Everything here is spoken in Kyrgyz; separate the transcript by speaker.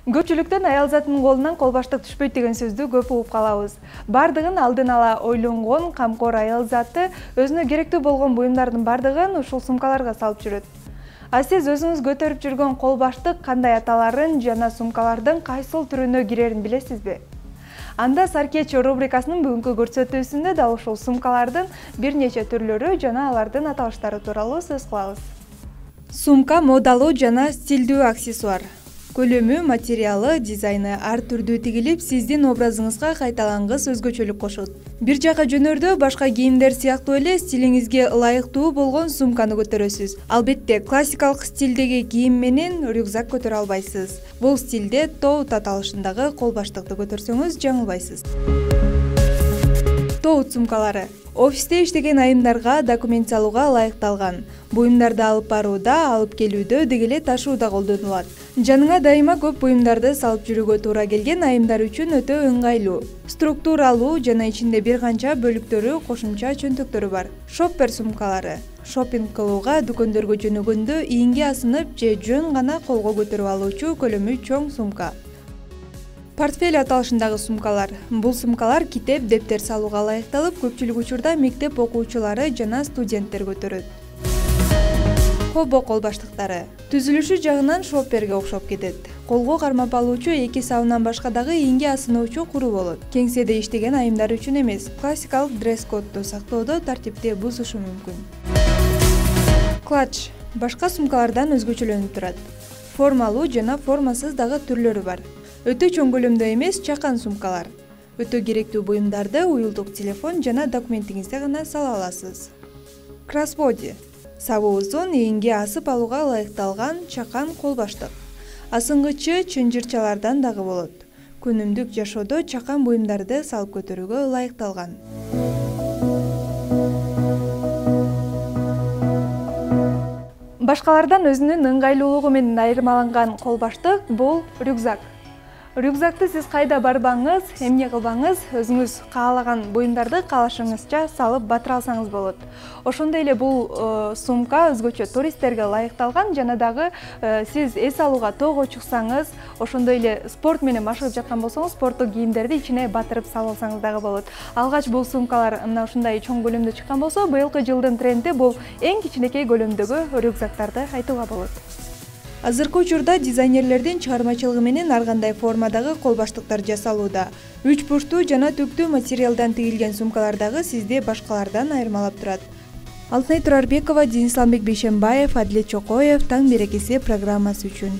Speaker 1: Көпчүлүктөн аял затынын колунан кол баштык түшпөйт деген сөздү көп угуп калабыз. Бардыгын алдын ала ойлонгон камкор аял заты өзүнө керектүү болгон буюмдардын бардыгын ушул сумкаларга салып жүрөт. А сиз өзүңүз көтөрүп жүргөн кол баштык кандай аталарын жана сумкалардын кайсыл түрүнө кирерин билесизби? Анда Саркеч рубрикасынын бүгүнкү көрсөтүүсүндө да ушул сумкалардын бир нече түрлөрү жана алардын аталыштары тууралуу сөз кылабыз. Сумка модалуу жана стилдүү аксессуар. Көлөмү, материалы, дизайны ар түрдүү тигилип, сиздин образыңызга кайталангыс өзгөчөлүк кошот. Бир жака жөнөрдө башка кийимдер сыяктуу эле стилиңизге ылайыктуу болгон сумканы көтөрөсүз. Албетте, классикалык стилдеги кийим менен рюкзак көтөрө албайсыз. Бул стилде тоут аталышындагы кол баштыкты көтөрсөңүз жаңылбайсыз. Тоут сумкалары. Офисте иштеген айымдарга документ салууга ылайыкталган. Буюмдарды алып барууда, алып келүүдө, деги эле ташууда колдонулат. Жаныңа дайыма көп буюмдарды салып жүрүүгө туура келген айымдар үчүн өтө ыңгайлуу. Структуралуу жана ичинде бир канча бөлүктөрү, кошумча чөнтөктөрү бар. Шоппер сумкалары. Шоппинг кылууга дүкөндөргө жөнөгөндө ийинге асынып же жөн гана колго көтөрүп алуучу көлөмү чоң сумка. Портфель аталышындагы сумкалар. Бул сумкалар китеп, дептер салууга ылайыкталып, көпчүлүк учурда мектеп окуучулары жана студенттер көтөрөт. Хобо кол баштыктары. Түзүлүшү жагынан шопперге окшоп кетет. Колго кармап алуучу эки сабынан башка дагы ийинге асыноочу куру болот. Кеңседе иштеген айымдар үчүн эмес, классикалык дресс-кодду сактоодо тартипти бузушу мүмкүн. Клатч. Башка сумкалардан өзгөчөлөнүп турат. Формалуу жана формасыз дагы түрлөрү бар. Өтө чоң көлөмдө эмес, чакан сумкалар. Өтө керектүү буюмдарды уюлдук телефон жана документиңизде гана сала аласыз. Кроссбоди. Сабы узун, ийинге асып алууга ылайыкталган чакан кол баштык. Асынгычы чынжырчалардан дагы болот. Күнүмдүк жашоодо чакан буюмдарды салып көтөрүүгө ылайыкталган. Башкалардан өзүнүн ыңгайлуулугу менен айырмаланган кол баштык бул рюкзак. Рюкзакты сиз кайда барбаңыз, эмне кылбаңыз, өзүңүз каалаган буюмдарды каалашыңызча салып батыра алсаңыз болот. Ошондой эле бул сумка өзгөчө туристтерге ылайыкталган жана дагы сиз эс алууга тоого чыксаңыз, ошондой эле спорт менен машыгып жаткан болсоңуз, спорттук кийимдерди ичине батырып салып алсаңыз дагы болот. Алгач бул сумкалар мына ушундай чоң көлөмдө чыккан болсо, быйылкы жылдын тренди бул эң кичинекей көлөмдөгү рюкзактарды айтууга болот. Азыркы учурда дизайнерлердин чыгармачылыгы менен ар кандай формадагы кол баштыктар жасалууда. 3 бурчтуу жана түктүү материалдан тигилген сумкалар дагы сизди башкалардан айырмалап турат. Алтынай Турарбекова, Денис Бейшенбаев, Адилет Чокоев, Таң берекеси программасы үчүн.